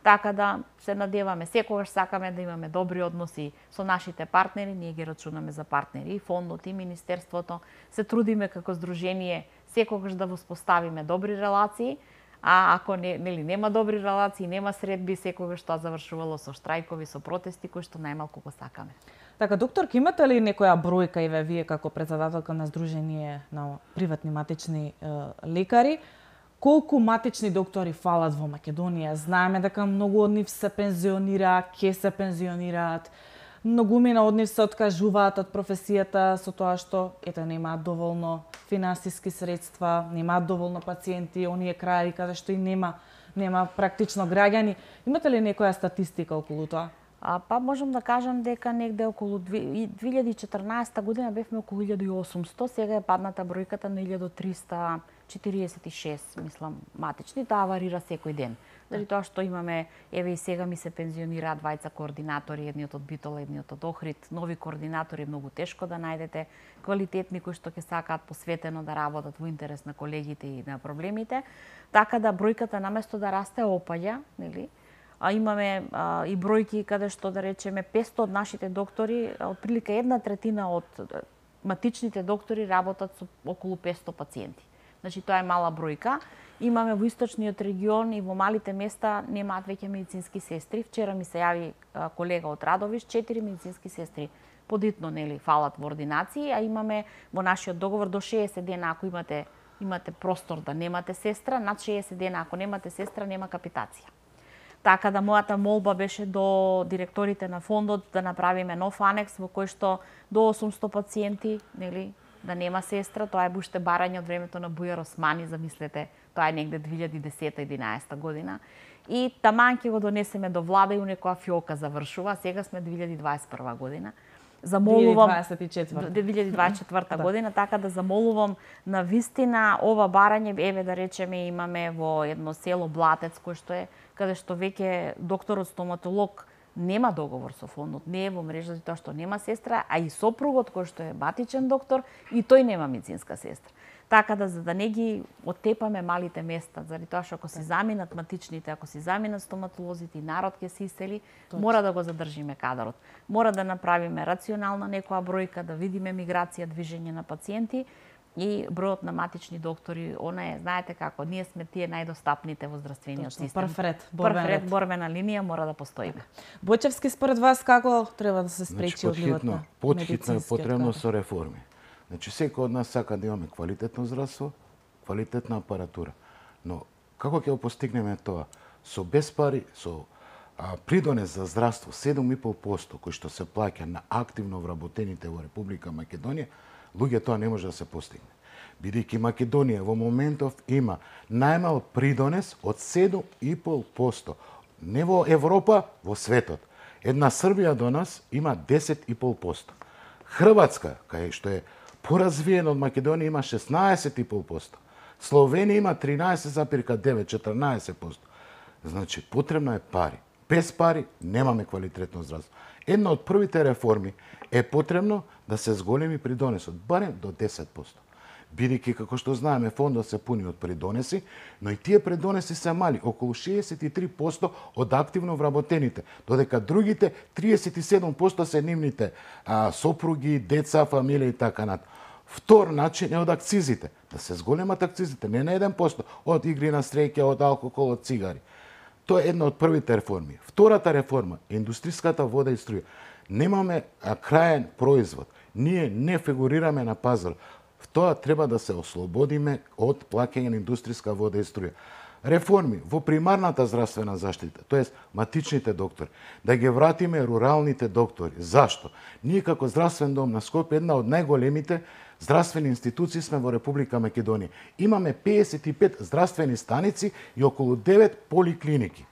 така да се надеваме, секогаш сакаме да имаме добри односи со нашите партнери, ние ги рачунаме за партнери, и фондот, и министерството, се трудиме како здружение секогаш да воспоставиме добри релации, а ако не, нели, нема добри релации, нема средби, секогаш тоа завршувало со штрајкови, со протести, кои што најмалку го сакаме. Така, докторки, имате ли некоја бројка и вие како председателка на Сдружение на приватни матични е, лекари, колку матични доктори фалат во Македонија? Знаеме дека многу од нив се пензионираат, ќе се пензионираат, многумина од нив се откажуваат од професијата со тоа што ето немаат доволно финансиски средства, немаат доволно пациенти, оние краји каде што и нема нема практично граѓани. Имате ли некоја статистика околу тоа? А, па можам да кажам дека негде околу две илјади и четрнаесетта година бевме околу илјада и осумсто, сега е падната бројката на илјада триста четиридесет и шест, мислам, матични, таа варира секој ден. Заради тоа што имаме, еве и сега ми се пензионираат двајца координатори, едниот од Битола, едниот од Охрид, нови координатори многу тешко да најдете, квалитетни кои што ќе сакаат посветено да работат во интерес на колегите и на проблемите, така да бројката наместо да расте опаѓа, нели? А имаме а, и бројки каде што да речеме петсто од нашите доктори, отприлика една третина од матичните доктори работат со околу петсто пациенти. Значи тоа е мала бројка. Имаме во источниот регион и во малите места немаат веќе медицински сестри. Вчера ми се јави а, колега од Радовиш, четири медицински сестри подитно нели фалат во ординации, а имаме во нашиот договор до шеесет дена ако имате имате простор да немате сестра, над шеесет дена ако немате сестра нема капитација. Така да мојата молба беше до директорите на фондот да направиме нов анекс во кој што до осумсто пациенти, нели, да нема сестра, тоа е уште барање од времето на Бујар Османи, замислете, тоа е негде две илјади и десета единаесетта година. И таман ќе го донесеме до влада и у некоја фиока завршува, сега сме две илјади и дваесет и прва година. замолувам две илјади дваесет и четврта година, така да замолувам на вистина ова барање, еве да речеме имаме во едно село Блатец кој што е каде што веќе докторот стоматолог нема договор со фондот, не е во мрежа тоа што нема сестра, а и сопругот кој што е батичен доктор и тој нема медицинска сестра. Така да за да не ги оттепаме малите места, заради тоа што ако си заминат матичните, ако си заминат стоматолозите и народ ќе се исели, Точно. Мора да го задржиме кадарот. Мора да направиме рационална некоја бројка, да видиме миграција, движење на пациенти и бројот на матични доктори, она е, знаете како, ние сме тие најдостапните во здравствениот систем. Прв ред, борбен Прв ред, борбена линија мора да постоиме. Бојчевски, според вас како треба да се спречи значи, одливот на Потхитно е потребно со реформи. Значи, секој од нас сака да имаме квалитетно здравство, квалитетна апаратура. Но како ќе го постигнеме тоа? Со без пари, со а, придонес за здравство седум и пол проценти кој што се плаќа на активно вработените во Република Македонија, луѓе тоа не може да се постигне. Бидејќи Македонија во моментов има најмал придонес од седум и пол проценти. Не во Европа, во светот. Една Србија до нас има десет и пол проценти. Хрватска, кај што е поразвиена од Македонија, има шеснаесет и пол проценти. Словенија има тринаесет запирка девет, четрнаесет проценти. Значи, потребно е пари. Без пари немаме квалитетно здравство. Една од првите реформи е потребно да се зголеми придонесот, барем до десет проценти. Бидејќи, како што знаеме, фондот се пуни од придонеси, но и тие придонеси се мали, околу шеесет и три проценти од активно вработените, додека другите триесет и седум проценти се нивните а, сопруги, деца, фамилија и така натаму. Втор начин е од акцизите. Да се зголемат акцизите, не на еден проценти, од игри на среќа, од алкохол, од цигари. Тоа е една од првите реформи. Втората реформа е индустријската вода и струја. Немаме краен производ. Ние не фигурираме на пазар. Тоа треба да се ослободиме од плаќање на индустријска вода и струја. Реформи во примарната здравствена заштита, тоест матичните доктори, да ги вратиме руралните доктори. Зашто? Ние како здравствен дом на Скопје, една од најголемите здравствени институции сме во Република Македонија. Имаме педесет и пет здравствени станици и околу девет поликлиники.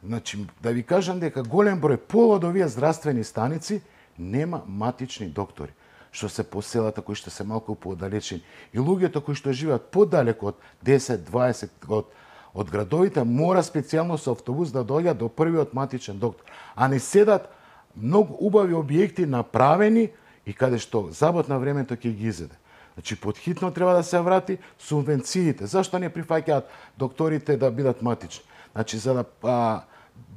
Значи, да ви кажам дека голем број пол од овие здравствени станици нема матични доктори, што се по селата кои што се малку поодалечени. И луѓето кои што живеат подалеку од десет дваесет од, од градовите, мора специјално со автобус да доаѓа до првиот матичен доктор. А не седат многу убави објекти направени и каде што забот на времето ќе ги изеде. Значи, подхитно треба да се врати субвенциите. Зашто не прифаќаат докторите да бидат матични? Значи, за да а,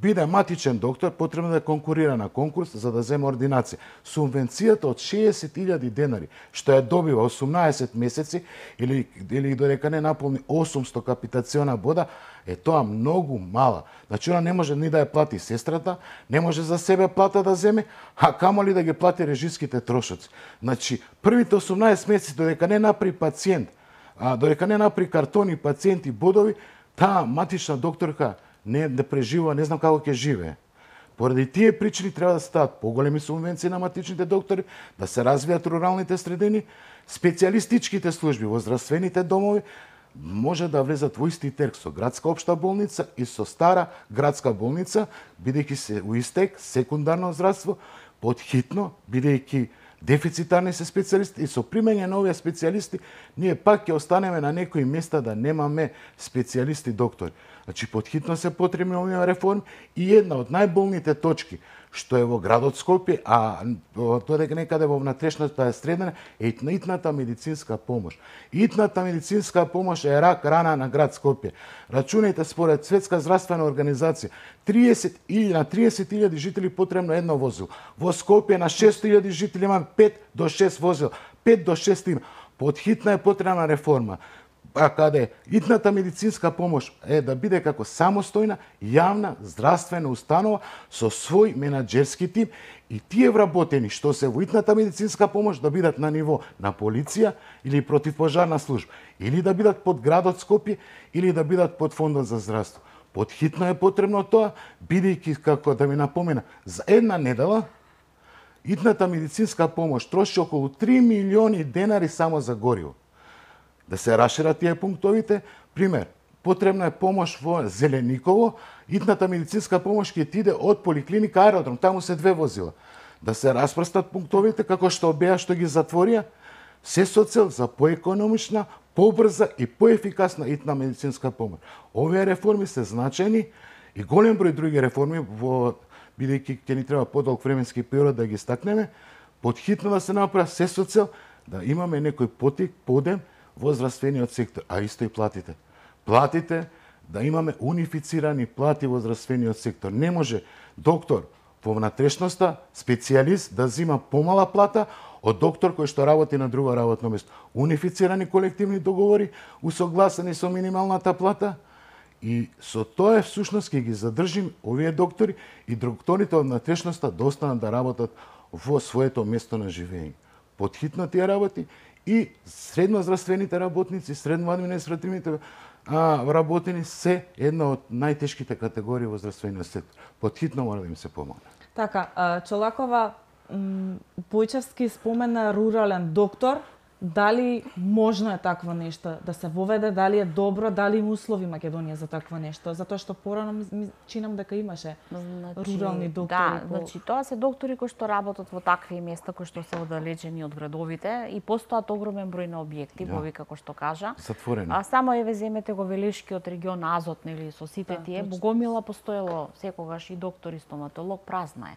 биде матичен доктор, потребно да конкурира на конкурс за да земе ординација. Субвенцијата од шеесет илјади денари, што ја добива осумнаесет месеци или, или додека не наполни осумсто капитациона бода, е тоа многу мала. Значи, она не може ни да ја плати сестрата, не може за себе плата да земе, а камоли да ги плати режиските трошоци. Значи, првите осумнаесет месеци, додека не напри пациент, а, додека не напри картони, пациенти, бодови, таа матична докторка не да преживува, не знам како ќе живее. Поради тие причини треба да стават поголеми субвенции на матичните доктори, да се развијат руралните средини, специјалистичките служби во здравствените домови може да влезат во исти терк со градска општа болница и со стара градска болница, бидејќи се у истек секундарно здравство, подхитно, бидејќи дефицитарни се специјалисти и со примење на овие специјалисти ние пак ќе останеме на некои места да немаме специјалисти доктори. Значи, подхитно се потребни овие реформи и една од најболните точки што е во градот Скопје, а додека некаде во внатрешната средина, е итната медицинска помош. Итната медицинска помош е рак рана на град Скопје. Рачунајте, според Светска здравствена организација, триесет илјади, на триесет илјади жители потребно едно возило. Во Скопје на шесто илјади жители има пет до шест возила. пет до шест има. Подхитна е потребна реформа. А каде итната медицинска помош е да биде како самостојна јавна здравствена установа со свој менаџерски тим и тие вработени што се во итната медицинска помош да бидат на ниво на полиција или противпожарна служба, или да бидат под градот Скопје, или да бидат под фондот за здравство. Подхитно е потребно тоа, бидејќи, како да ви напомена, за една недела итната медицинска помош троши околу три милиони денари само за гориво. Да се расшират тие пунктовите. Пример, потребна е помош во Зелениково, итната медицинска помош ќе ти иде од поликлиника Аеродром, таму се две возила. да се распрстат пунктовите како што беа што ги затворија, се со цел за поекономична, побрза и поефикасна итна медицинска помош. Овие реформи се значајни и голем број други реформи, во бидејќи ќе ни треба подолг временски период да ги стакнеме, потхитно да се направи се со цел да имаме некој потик, подем во здравствениот сектор, а исто и платите. Платите, да имаме унифицирани плати во здравствениот сектор. Не може доктор во внатрешноста, специјалист, да зима помала плата од доктор кој што работи на друго работно место. Унифицирани колективни договори, усогласени со минималната плата, и со тоа всушност ќе ги задржим овие доктори и докторите од внатрешноста да останат да работат во своето место на живење. Потхитно тие работи и средноздравствените работници, средноадминистративните работени се една од најтешките категории во здравствениот сектор. Потхитно мора да им се помогне. Така, Чолакова, Бојчевски спомена рурален доктор. Дали можно е такво нешто да се воведе, дали е добро, дали има услови Македонија за такво нешто? Затоа што порано ми чинам дека имаше значи, рурални доктори. Да, по... значи тоа се доктори кои што работат во такви места кои што се оддалечени од градовите и постојат огромен број на објекти, да. Бови како што кажа. Затворени. А само еве земете го Велешкиот регион Азот, нели, со сите да, тие, Богомила постоело секогаш и доктор и стоматолог, празна е.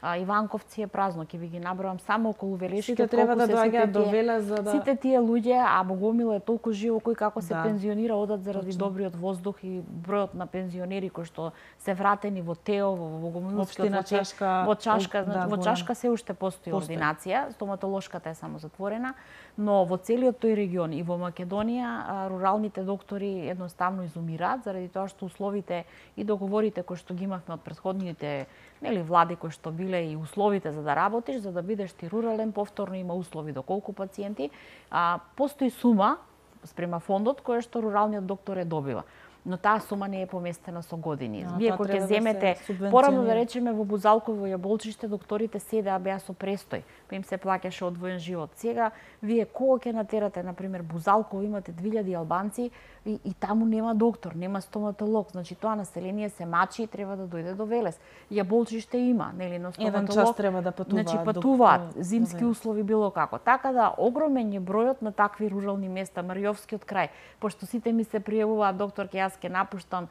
А, Иванковци е празно, ќе ви ги набројам само околу Велешкиот. Сите треба да доаѓаат до Велес за да сите тие луѓе, а Богомил е толку живо кој како се да. пензионира одат заради Точно. Добриот воздух и бројот на пензионери кои што се вратени во Тео, во Богомилскиот, во Чашка, во Чашка, да, во Чашка се уште постои ординација, стоматолошката е само затворена, но во целиот тој регион и во Македонија руралните доктори едноставно изумираат заради тоа што условите и договорите кои што ги имавме од претходните нели влади кои што биле и условите за да работиш, за да бидеш ти рурален, повторно има услови до колку пациенти, а постои сума спрема фондот која што руралниот доктор е добива. Но таа сума не е поместена со години. А, Вие кога ќе земете, да порано да речеме во Бузалково и Јаболчиште, докторите седеа беа со престој, па им се плаќаше одвоен живот. Сега вие кога ќе натерате, на пример, Бузалково имате две илјади албанци и, и таму нема доктор, нема стоматолог, значи тоа население се мачи и треба да дојде до Велес. Јаболчиште има, нели, но стоматолог. Еден час треба да патуваат. Значи патуваат, зимски услови било како. Така да огромен е бројот на такви рурални места, Маријовскиот крај, пошто сите ми се пријавуваат доктор ке јас ке напуштам,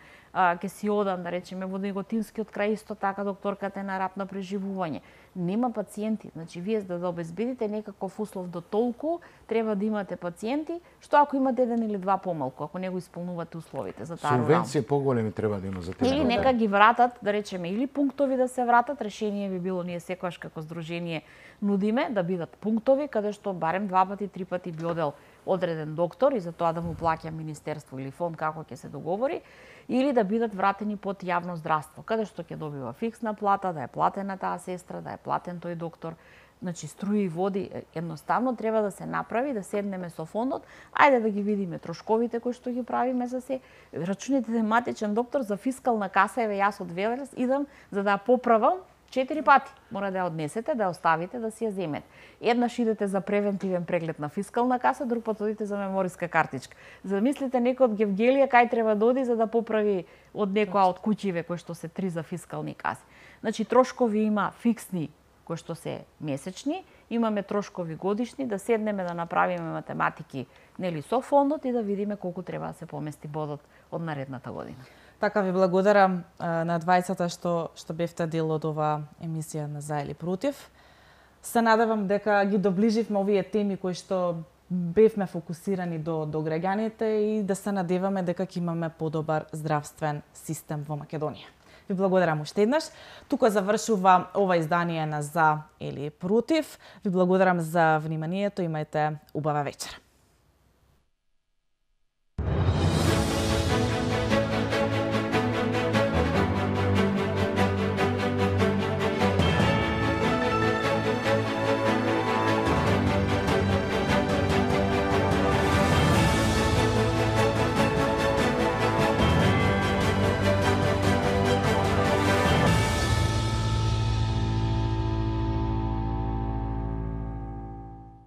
ке си одам, да речеме, во Неготинскиот крај исто така докторката е на рап на преживување. Нема пациенти, значи вие за да обезбедите некаков услов до толку, треба да имате пациенти, што ако имате еден или два помалку, ако не го исполнувате условите за таа рурална. Субвенции поголеми треба да има за тие. Или нека ги вратат, да речеме, или пунктови да се вратат, решение би било ние секогаш како здружение нудиме да бидат пунктови каде што барем два пати, три пати би одел одреден доктор и за тоа да му плаќа министерство или фонд како ќе се договори, или да бидат вратени под јавно здравство, каде што ќе добива фиксна плата, да е платена таа сестра, да е платен тој доктор, значи струи и води, едноставно треба да се направи, да седнеме со фондот, ајде да ги видиме трошковите кои што ги правиме за се, рачуните тематичен доктор за фискална каса, еве јас од Велес идам за да ја поправам четири пати. Мора да ја однесете, да ја оставите, да си ја земете. Еднаш идете за превентивен преглед на фискална каса, друг пат одите за мемориска картичка. Замислите некој од Гевгелија кај треба да оди за да поправи од некоја од куќиве кои што се три за фискални каси. Значи трошкови има фиксни кои што се месечни, имаме трошкови годишни, да седнеме да направиме математики, нели, со фондот и да видиме колку треба да се помести бодот од наредната година. Така ви благодарам на двајцата што што бевте дел од оваа емисија на За или против. Се надевам дека ги доближивме овие теми кои што бевме фокусирани до до граѓаните и да се надеваме дека ќе имаме подобар здравствен систем во Македонија. Ви благодарам уште еднаш. Тука завршува ова издание на За или против. Ви благодарам за вниманието. Имајте убава вечер.